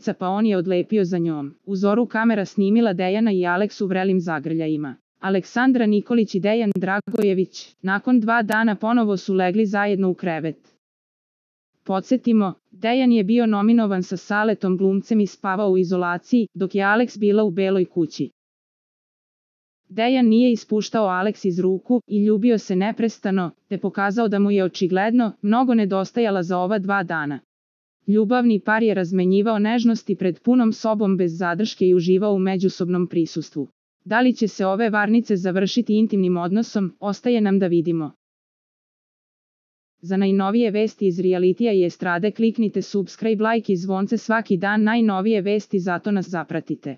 ulica pa on je odlepio za njom. U zoru kamera snimila Dejana i Aleks u vrelim zagrljajima. Aleksandra Nikolić i Dejan Dragojević, nakon 2 dana ponovo su legli zajedno u krevet. Podsjetimo, Dejan je bio nominovan sa Saletom glumcem i spavao u izolaciji, dok je Aleks bila u Beloj kući. Dejan nije ispuštao Aleks iz ruku i ljubio se neprestano, te pokazao da mu je očigledno mnogo nedostajala za ova 2 dana. Ljubavni par je razmenjivao nežnosti pred punom sobom bez zadrške i uživao u međusobnom prisustvu. Da li će se ove varnice završiti intimnim odnosom, ostaje nam da vidimo. Za najnovije vesti iz realitija i estrade kliknite subscribe, like i zvonce svaki dan, najnovije vesti, zato nas zapratite.